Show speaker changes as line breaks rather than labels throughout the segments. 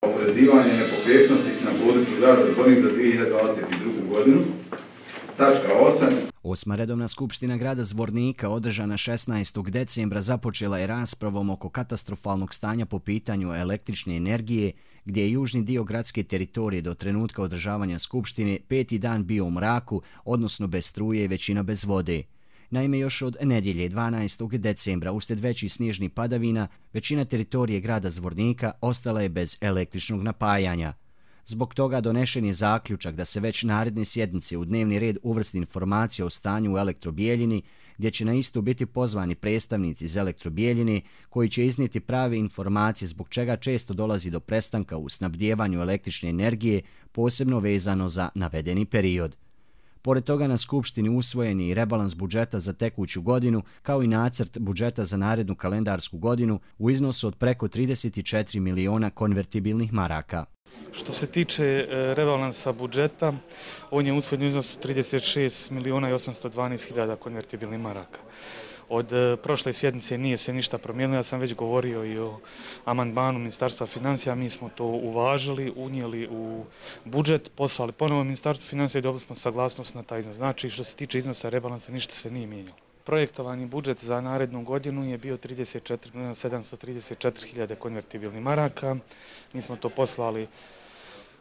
Oporezivanje nepokretnosti na području grada Zvornik za 2022. godinu. Tačka 8.
Osma redovna skupština grada Zvornika održana 16. decembra započela je raspravom oko katastrofalnog stanja po pitanju električne energije, gdje je južni dio gradske teritorije do trenutka održavanja skupštine 5. dan bio u mraku, odnosno bez struje i većina bez vode. Naime, još od nedjelje 12. decembra uslijed većih snježnih padavina, većina teritorije grada Zvornika ostala je bez električnog napajanja. Zbog toga donešen je zaključak da se već naredne sjednice u dnevni red uvrsti informacija o stanju u Elektrobijeljini, gdje će na istu biti pozvani predstavnici iz Elektrobijeljine koji će iznijeti prave informacije zbog čega često dolazi do prestanka u snabdijevanju električne energije, posebno vezano za navedeni period. Pored toga na skupštini usvojen je i rebalans budžeta za tekuću godinu, kao i nacrt budžeta za narednu kalendarsku godinu u iznosu od preko 34 miliona konvertibilnih maraka.
Što se tiče rebalansa budžeta, on je usvojen u iznosu 36 miliona i 812 hiljada konvertibilnih maraka. Od prošle sjednice nije se ništa promijenilo, ja sam već govorio i o amandmanu Ministarstva financija, mi smo to uvažili, unijeli u budžet, poslali ponovo Ministarstvu financija i dobili smo saglasnost na taj iznos. Znači, što se tiče iznosa rebalansa, ništa se nije mijenjalo. Projektovani budžet za narednu godinu je bio 34.734 hiljade konvertibilnih maraka. Mi smo to poslali,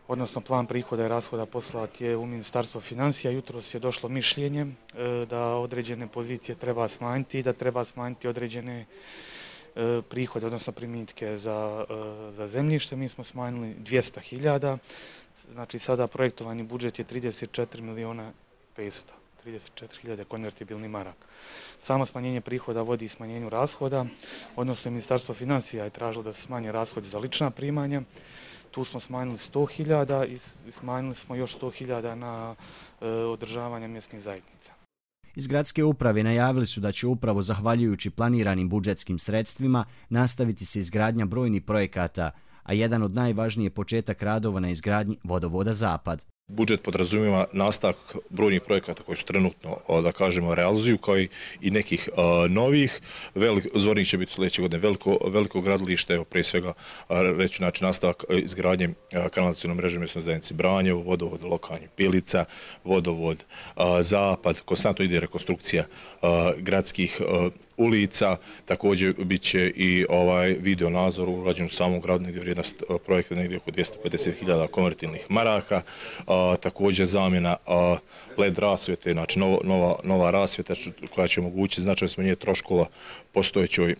odnosno plan prihoda i rashoda poslat je u Ministarstvo financija. Jutros je došlo mišljenje da određene pozicije treba smanjiti i da treba smanjiti određene prihode, odnosno primitke za zemljište. Mi smo smanjili 200 hiljada, znači sada projektovani budžet je 34 miliona 500. 34.000 konvertibilnih maraka. Samo smanjenje prihoda vodi smanjenju rashoda, odnosno Ministarstvo financija je tražilo da se smanje rashodi za lična primanja. Tu smo smanjili 100.000 i smanjili smo još 100.000 na održavanje mjesnih zajednica.
Iz gradske uprave najavili su da će upravo zahvaljujući planiranim budžetskim sredstvima nastaviti se izgradnja brojnih projekata, a jedan od najvažnijih je početak radova na izgradnji vodovoda Zapad.
Budžet podrazumijeva nastavak brojnih projekata koji su trenutno, da kažemo, realizuju, kao i nekih novih. Zvornik će biti sljedeće godine veliko gradilište, evo prije svega reći znači nastavak izgradnje kanalizacijske mreže mjesne zajednice Branjevo, vodovod Lokanje Pilica, vodovod Zapad, konstantno ide rekonstrukcija gradskih ulica, također bit će i video nadzor urađen u samom gradu, negdje vrijednost projekta negdje oko 250.000 konvertibilnih maraka, također zamjena LED rasvjete, znači nova rasvjeta koja će omogućiti značajno smanjenje troškova postojećoj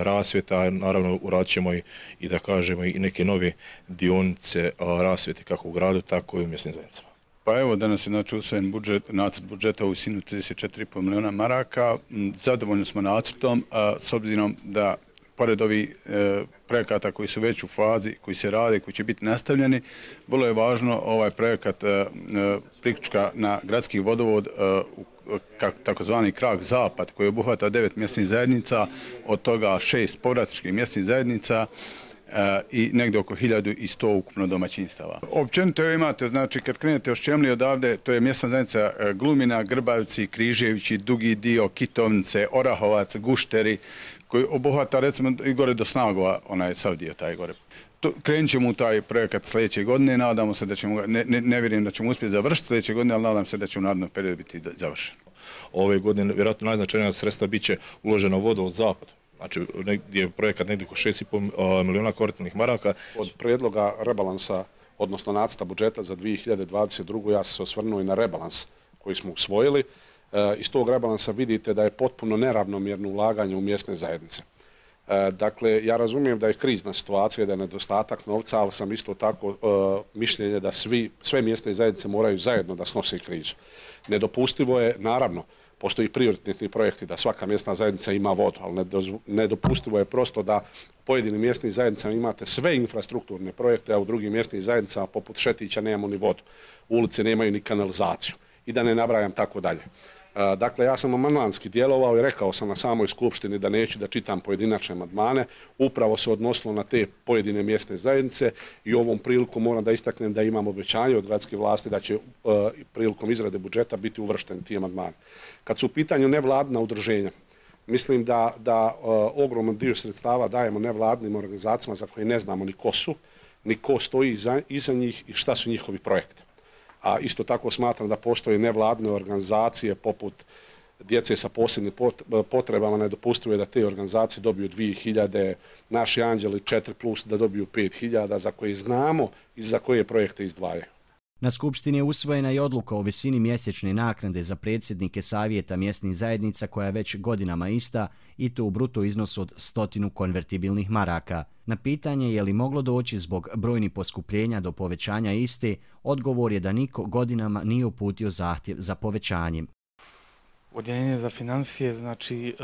rasvjeta, naravno uradit ćemo i da kažemo i neke nove dionice rasvjete kako u gradu, tako i u mjesnim zajednicama.
Pa evo, danas je znači usvojen nacrt budžeta u visini 34,5 miliona maraka. Zadovoljni smo nacrtom, s obzirom da pored ovih projekata koji su već u fazi, koji se rade, koji će biti nastavljeni, vrlo je važno ovaj projekat priključka na gradski vodovod, takozvani krak Zapad, koji obuhvata 9 mjesnih zajednica, od toga 6 povratničkih mjesnih zajednica, i negdje oko 1100 ukupno domaćinstava. Općenito imate, znači kad krenete od Ščemlije odavde, to je mjesna zajednica Glumina, Grbavci, Križevići, Dugi dio, Kitovnice, Orahovac, Gušteri, koji obuhvata recimo i gore do Snagova, onaj sav dio taj gore. Krenut ćemo u taj projekat sljedeće godine, nadamo se da ćemo, ne vjerujem da ćemo uspjeti završiti sljedeće godine, ali nadam se da će u narednom periodu biti završen.
Ove godine vjerojatno najznačajnija sredstva bit će uloženo vodovod Zapad. Znači, gdje je projekat negdje oko 6,5 miliona konvertibilnih maraka.
Od prijedloga rebalansa, odnosno nacrta budžeta za 2022. ja sam se osvrnuo i na rebalans koji smo usvojili. Iz tog rebalansa vidite da je potpuno neravnomjerno ulaganje u mjesne zajednice. Dakle, ja razumijem da je krizna situacija, da je nedostatak novca, ali sam isto tako mišljenje da sve mjesne zajednice moraju zajedno da snose krizu. Nedopustivo je, naravno, postoji prioritetni projekti da svaka mjesna zajednica ima vodu, ali nedopustivo je prosto da u pojedinim mjesnim zajednicama imate sve infrastrukturne projekte, a u drugim mjesnim zajednicama poput Šetića nemamo ni vodu, ulice nemaju ni kanalizaciju i da ne nabrajam tako dalje. Dakle, ja sam amandmanski djelovao i rekao sam na samoj skupštini da neću da čitam pojedinačne amandmane, upravo se odnosilo na te pojedine mjesne zajednice i ovom priliku moram da istaknem da imam obećanje od gradske vlasti da će prilikom izrade budžeta biti uvršteni ti amandmani. Kad su u pitanju nevladina udruženja, mislim da ogroman dio sredstava dajemo nevladinim organizacijama za koje ne znamo ni ko su, ni ko stoji iza njih i šta su njihovi projekti. A isto tako smatram da postoje nevladine organizacije poput djece sa posebnim potrebama, nedopustivo je da te organizacije dobiju 2000, naši anđeli 4+, da dobiju 5000, za koje znamo i za koje projekte izdvajaju.
Na skupštini je usvojena i odluka o visini mjesečne naknade za predsjednike savjeta mjesnih zajednica koja je već godinama ista i to u bruto iznosu od 100 konvertibilnih maraka. Na pitanje je li moglo doći zbog brojnih poskupljenja do povećanja iste, odgovor je da niko godinama nije uputio zahtjev za povećanjem.
Odjeljenje za financije znači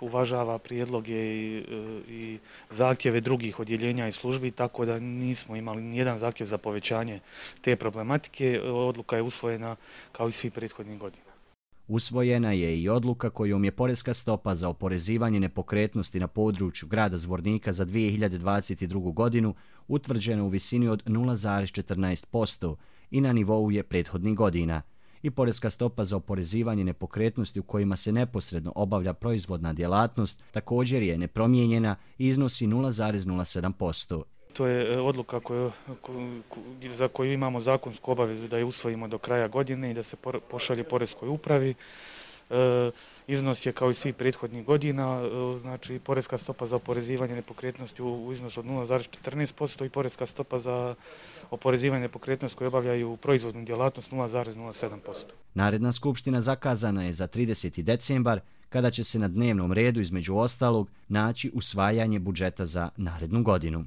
uvažava prijedloge i zahtjeve drugih odjeljenja i službi, tako da nismo imali nijedan zahtjev za povećanje te problematike. Odluka je usvojena kao i svih prethodnih godina.
Usvojena je i odluka kojom je poreska stopa za oporezivanje nepokretnosti na području grada Zvornika za 2022. godinu utvrđena u visini od 0,14% i na nivou je prethodnih godina. I poreska stopa za oporezivanje nepokretnosti u kojima se neposredno obavlja proizvodna djelatnost također je nepromijenjena i iznosi 0,07%.
To je odluka za koju imamo zakonsku obavezu da je usvojimo do kraja godine i da se pošalje poreskoj upravi. Iznos je kao i svih prethodnih godina, znači poreska stopa za oporezivanje nepokretnosti u iznosu od 0,14% i poreska stopa za oporezivanje nepokretnosti koje obavljaju proizvodnu djelatnost 0,07%.
Naredna skupština zakazana je za 30. decembar, kada će se na dnevnom redu između ostalog naći usvajanje budžeta za narednu godinu.